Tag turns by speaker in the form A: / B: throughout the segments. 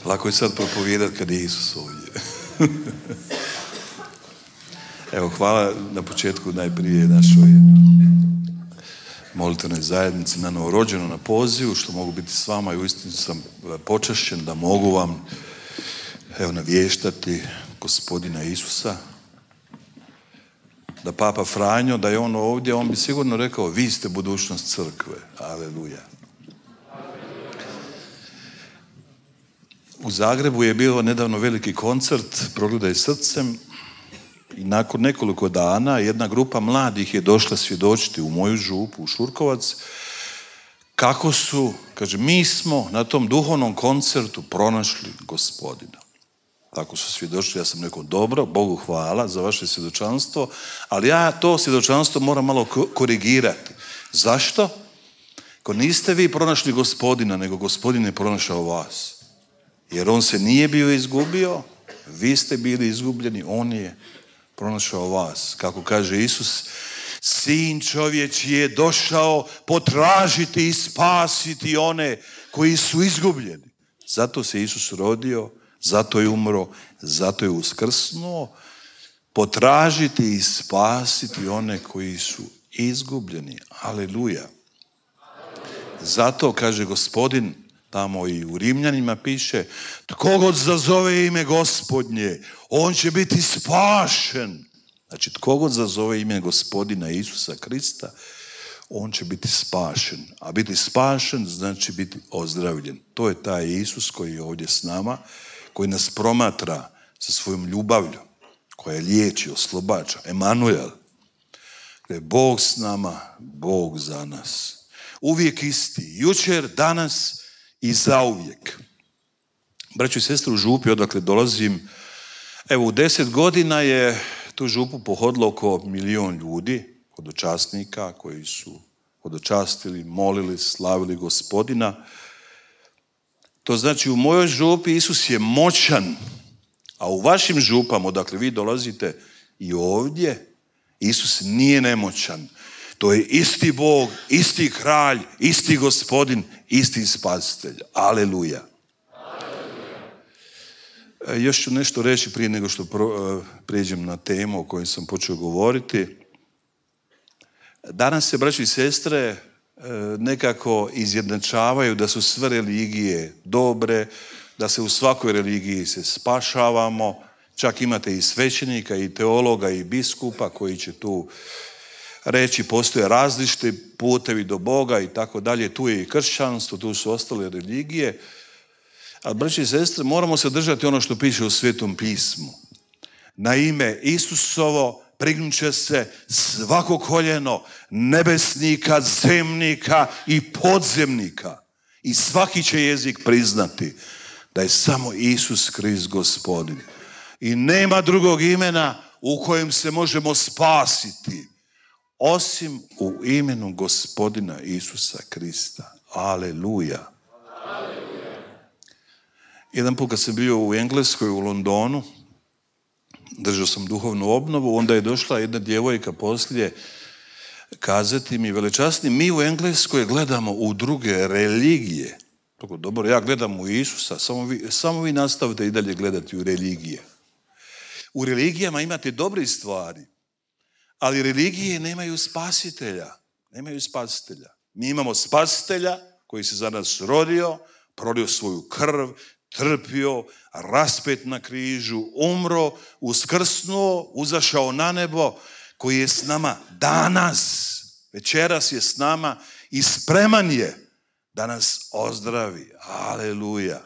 A: Lako je sad propovijedati kad je Isus ovdje. Evo, hvala na početku najprije našoj molitvenoj zajednici na novorođenu, na pozivu, što mogu biti s vama i uistinu sam počašćen da mogu vam navještati Gospodina Isusa. Da Papa Franjo, da je on ovdje, on bi sigurno rekao, vi ste budućnost crkve. Aleluja. U Zagrebu je bio nedavno veliki koncert Progledaj srcem i nakon nekoliko dana jedna grupa mladih je došla svjedočiti u moju župu, u Šurkovac, kako su, kaže, mi smo na tom duhovnom koncertu pronašli Gospodina. Tako su svjedočili, ja sam rekao, dobro, Bogu hvala za vaše svjedočanstvo, ali ja to svjedočanstvo moram malo korigirati. Zašto? Ako niste vi pronašli Gospodina, nego Gospodin je pronašao vas. Jer on se nije bio izgubio, vi ste bili izgubljeni, on je pronašao vas. Kako kaže Isus, Sin čovječji je došao potražiti i spasiti one koji su izgubljeni. Zato se Isus rodio, zato je umro, zato je uskrsnuo, potražiti i spasiti one koji su izgubljeni. Aleluja. Zato, kaže Gospodin, tamo i u Rimljanima piše, tko god zazove ime Gospodnje, on će biti spašen. Znači, tko god zazove ime Gospodina Isusa Krista, on će biti spašen. A biti spašen znači biti ozdravljen. To je taj Isus koji je ovdje s nama, koji nas promatra sa svojom ljubavlju, koja liječi, oslobađa. Emanuel. Bog s nama, Bog za nas. Uvijek isti. Jučer, danas i zauvijek. Braćo i sestre, u župi odakle dolazim, evo u 10 godina je tu župu pohodilo oko 1 milion ljudi, hodočasnika koji su hodočastili, molili, slavili Gospodina. To znači u mojoj župi Isus je moćan, a u vašim župama odakle vi dolazite i ovdje Isus nije nemoćan. To je isti Bog, isti kralj, isti Gospodin, isti spasitelj. Aleluja. Još ću nešto reći prije nego što prijeđem na temu o kojoj sam počeo govoriti. Danas se, braći i sestre, nekako izjednačavaju da su sve religije dobre, da se u svakoj religiji se spašavamo. Čak imate i svećenika, i teologa, i biskupa koji će tu reći postoje različiti putevi do Boga i tako dalje. Tu je i kršćanstvo, tu su ostale religije. Ali, braći i sestre, moramo se držati ono što piše u Svetom pismu. Na ime Isusovo prignut će se svako koljeno nebesnika, zemnika i podzemnika. I svaki će jezik priznati da je samo Isus Krist Gospodin. I nema drugog imena u kojem se možemo spasiti osim u imenu Gospodina Isusa Krista. Aleluja. Jedan put kad sam bio u Engleskoj, u Londonu, držao sam duhovnu obnovu, onda je došla jedna djevojka poslije kazati mi, velečasni, mi u Engleskoj gledamo u druge religije. Tako, dobro, ja gledam u Isusa, samo vi nastavite i dalje gledati u religije. U religijama imate dobre stvari, ali religije nemaju spasitelja. Nemaju spasitelja. Mi imamo spasitelja koji se za nas rodio, prolio svoju krv, trpio, raspet na križu, umro, uskrsnuo, uzašao na nebo, koji je s nama danas, večeras je s nama i spreman je da nas ozdravi. Aleluja.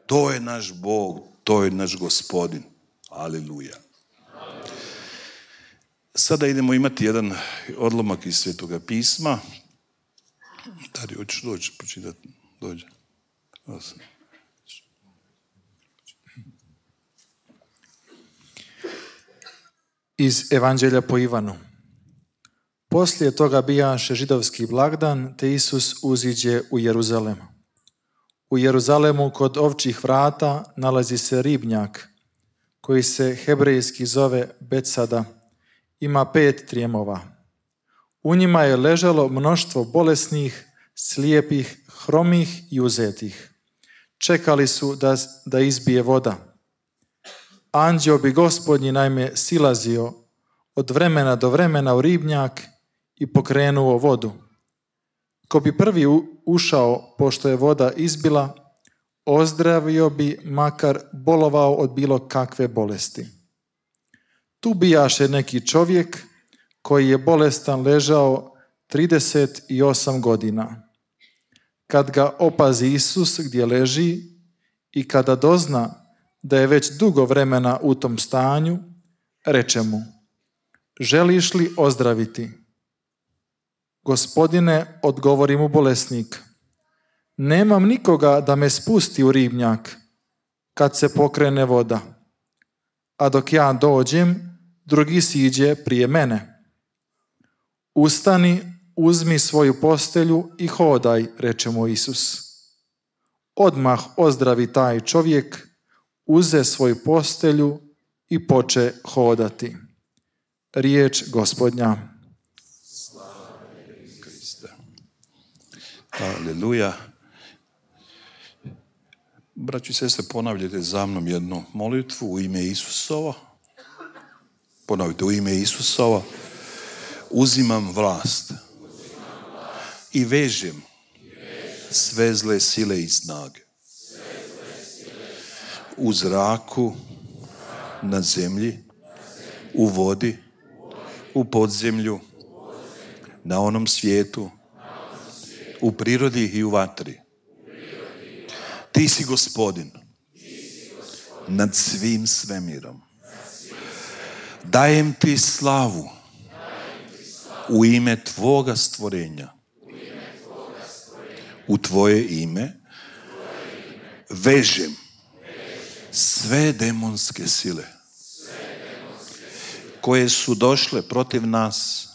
A: To je naš Bog, to je naš Gospodin. Aleluja. Sada idemo imati jedan odlomak iz Svetoga pisma. Dari, hoćeš doći, počitati? Dođe.
B: Iz Evanđelja po Ivanu. Poslije toga bijaše židovski blagdan, te Isus uziđe u Jeruzalem. U Jeruzalemu kod ovčjih vrata nalazi se ribnjak, koji se hebrejski zove Betsada. Ima 5 trijemova. U njima je ležalo mnoštvo bolesnih, slijepih, hromih i uzetih. Čekali su da izbije voda. Anđeo bi Gospodnji naime silazio od vremena do vremena u ribnjak i pokrenuo vodu. Ko bi prvi ušao, pošto je voda izbila, ozdravio bi, makar bolovao od bilo kakve bolesti. Tu bijaše neki čovjek koji je bolestan ležao 38 godina. Kad ga opazi Isus gdje leži i kada dozna da je već dugo vremena u tom stanju, reče mu: želiš li ozdraviti? Gospodine, odgovori mu bolesnik, nemam nikoga da me spusti u ribnjak kad se pokrene voda, a dok ja dođem, drugi siđe prije mene. Ustani, uzmi svoju postelju i hodaj, reče mu Isus. Odmah ozdravi taj čovjek, uze svoju postelju i poče hodati. Riječ Gospodnja.
A: Aleluja. Braći i sestre, ponavljajte za mnom jednu molitvu u ime Isusova. Ponovite, u ime Isusova. Uzimam vlast i vežem sve zle sile i snage u zraku, na zemlji, u vodi, u podzemlju, na onom svijetu, u prirodi i u vatri. Ti si Gospodin nad svim svemirom. Dajem ti slavu u ime tvoga stvorenja. U tvoje ime vežem sve demonske sile koje su došle protiv nas,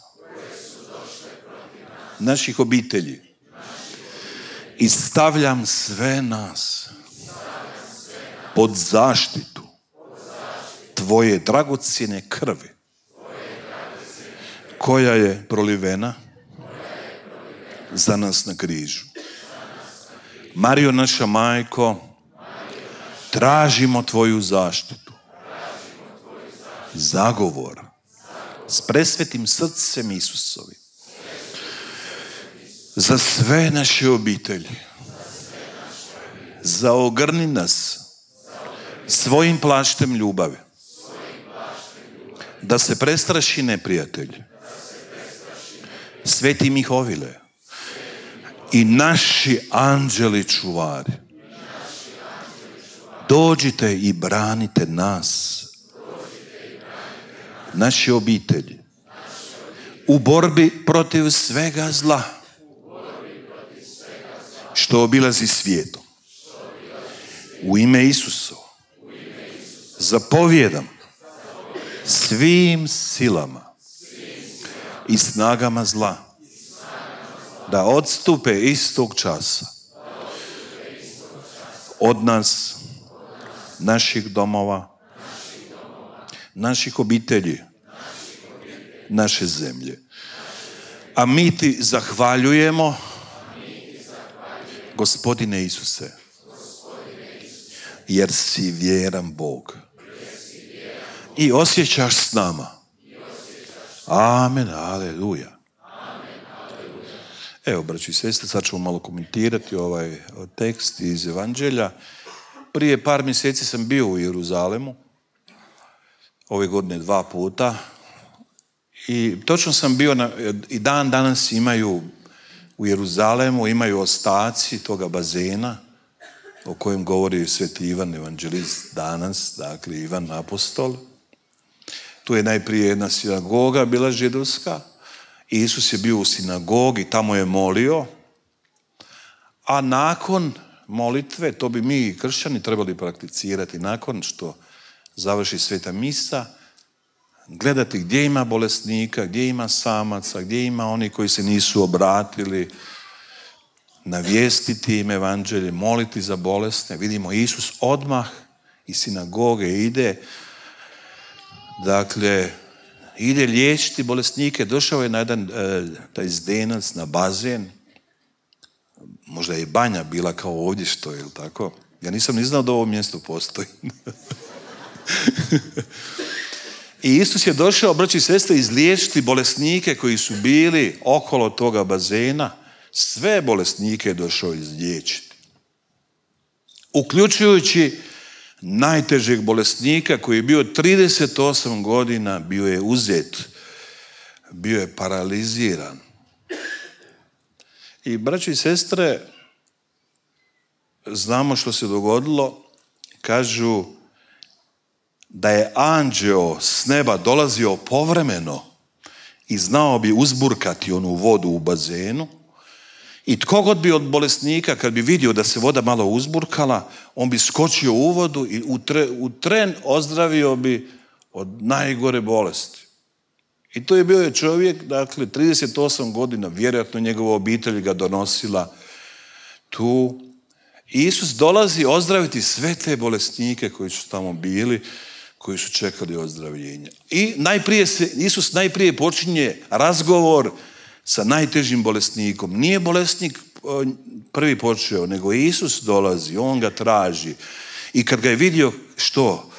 A: naših obitelji, i stavljam sve nas pod zaštitu tvoje dragocjene krvi koja je prolivena za nas na križu. Marijo, naša majko, tražimo tvoju zaštitu, zagovor s presvetim srcem Isusovim za sve naše obitelji. Zaogrni nas svojim plaštem ljubavi, da se prestraši neprijatelj. Sveti Mihovile i naši anđeli čuvari, dođite i branite nas, naše obitelji, u borbi protiv svega zla što obilazi svijetom. U ime Isusa zapovjedam svim silama i snagama zla da odstupe istog časa od nas, naših domova, naših obitelji, naše zemlje. A mi ti zahvaljujemo, Gospodine Isuse, jer si vjeran Bog i osjećaš s nama. Amen, aleluja. Evo, braći i sestre, sad ćemo malo komentirati ovaj tekst iz Evanđelja. Prije par mjeseci sam bio u Jeruzalemu, ove godine 2 puta, i točno sam bio i dan danas imaju u Jeruzalemu, imaju ostaci toga bazena o kojem govori sveti Ivan evanđelist danas, dakle Ivan apostol. Tu je najprije jedna sinagoga bila židovska. Isus je bio u sinagogi, tamo je molio, a nakon molitve, to bi mi kršćani trebali prakticirati, nakon što završi sveta misa, gledati gdje ima bolesnika, gdje ima samaca, gdje ima oni koji se nisu obratili, navijestiti im evanđelje, moliti za bolesne. Vidimo, Isus odmah iz sinagoge ide, dakle, ide liječiti bolesnike. Došao je na jedan taj zdenac, na bazen. Možda je banja bila kao ovdje što je, tako? Ja nisam ni znao da ovo mjesto postoji. I Isus je došao, braći i sestre, izliječiti bolesnike koji su bili okolo toga bazena. Sve bolesnike je došao izliječiti. Uključujući najtežeg bolesnika koji je bio 38 godina, bio je uzet, bio je paraliziran. I braći i sestre, znamo što se dogodilo. Kažu da je anđeo s neba dolazio povremeno i znao bi uzburkati onu vodu u bazenu. I tko god bi od bolesnika, kad bi vidio da se voda malo uzburkala, on bi skočio u vodu i u tren ozdravio bi od najgore bolesti. I to je bio čovjek, dakle, 38 godina, vjerojatno njegova obitelj ga donosila tu. Isus dolazi ozdraviti sve te bolesnike koji su tamo bili, koji su čekali ozdravljenje. I Isus najprije počinje razgovor sa najtežim bolesnikom. Nije bolesnik prvi počeo, nego Isus dolazi, on ga traži. I kad ga je vidio, što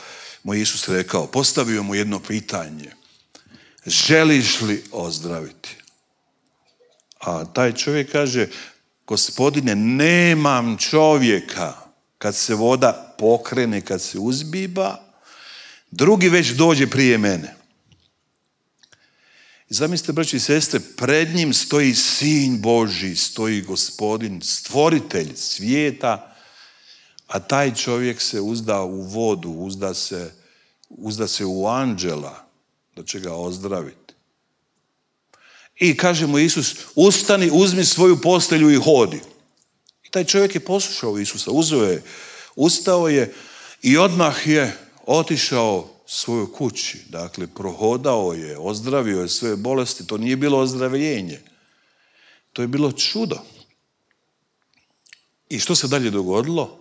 A: mu Isus rekao? Postavio mu jedno pitanje. Želiš li ozdraviti? A taj čovjek kaže, Gospodine, nemam čovjeka. Kad se voda pokrene, kad se uzbiba, drugi već dođe prije mene. I zamislite, braći i sestre, pred njim stoji Sin Božji, stoji Gospodin, stvoritelj svijeta, a taj čovjek se uzda u vodu, uzda se u anđela da će ga ozdraviti. I kaže mu Isus, ustani, uzmi svoju postelju i hodi. I taj čovjek je poslušao Isusa, ustao je i odmah je otišao svojoj kući. Dakle, prohodao je, ozdravio je sve bolesti. To nije bilo ozdravljenje. To je bilo čudo. I što se dalje dogodilo?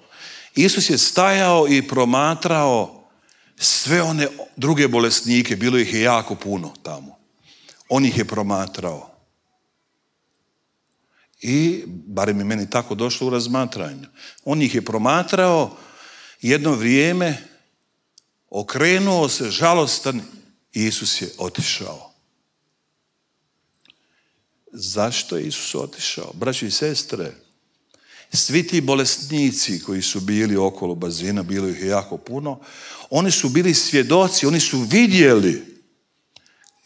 A: Isus je stajao i promatrao sve one druge bolesnike. Bilo ih je jako puno tamo. On ih je promatrao. I, barem je meni tako došlo u razmatranju, on ih je promatrao jedno vrijeme, okrenuo se žalostan i Isus je otišao. Zašto je Isus otišao? Braći i sestre, svi ti bolesnici koji su bili okolo bazena, bilo ih je jako puno, oni su bili svjedoci, oni su vidjeli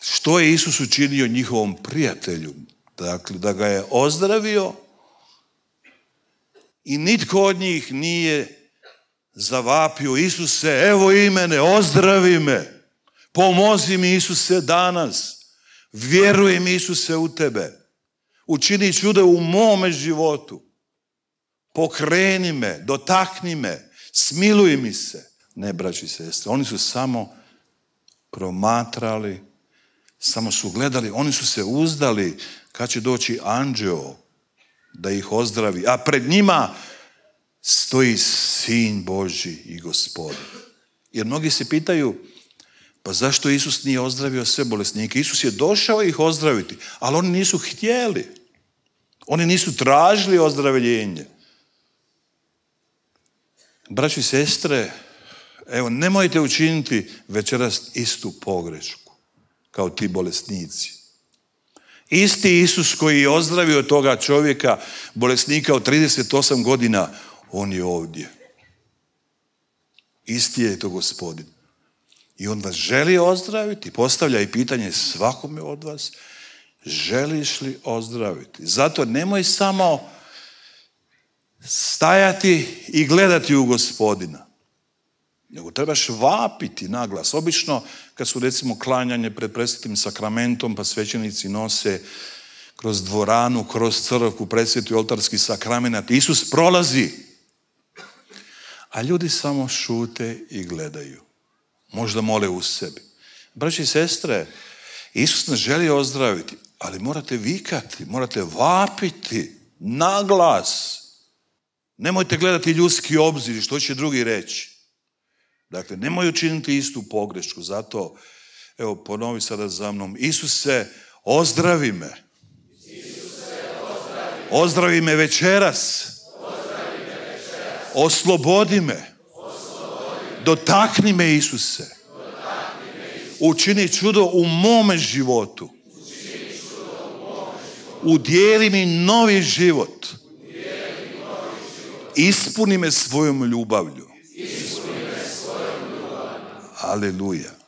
A: što je Isus učinio njihovom prijatelju. Dakle, da ga je ozdravio i nitko od njih nije zavapio, Isuse, evo i mene, ozdravi me, pomozi mi Isuse danas, vjerujem Isuse u tebe, učini čudo u mome životu, pokreni me, dotakni me, smiluj mi se. Ne, braći i sestre, oni su samo promatrali, samo su gledali, oni su se uzdali kad će doći anđeo da ih ozdravi, a pred njima stoji Sin Božji i Gospodin. Jer mnogi se pitaju, pa zašto Isus nije ozdravio sve bolesnike? Isus je došao ih ozdraviti, ali oni nisu htjeli. Oni nisu tražili ozdravljenje. Braći i sestre, evo, nemojte učiniti večeras istu pogrešku kao ti bolesnici. Isti Isus koji je ozdravio toga čovjeka, bolesnika od 38 godina, on je ovdje. Isti je to Gospodin. I on vas želi ozdraviti. Postavlja i pitanje svakome od vas, želiš li ozdraviti? Zato nemoj samo stajati i gledati u Gospodina, nego trebaš vapiti naglas. Obično kad su recimo klanjanje pred presvetim sakramentom, pa svećenici nose kroz dvoranu, kroz crkvu, presveti oltarski sakrament, Isus prolazi, a ljudi samo šute i gledaju. Možda mole u sebi. Braći i sestre, Isus nas želi ozdraviti, ali morate vikati, morate vapiti naglas. Nemojte gledati ljudski obzir, što će drugi reći. Dakle, nemoj učiniti istu pogrešku. Zato, evo, ponovi sada za mnom. Isuse, ozdravi me. Ozdravi me večeras. Oslobodi me. Dotakni me, Isuse. Učini čudo u mome životu. Udijeli mi novi život. Ispuni me svojom ljubavlju. Aleluja.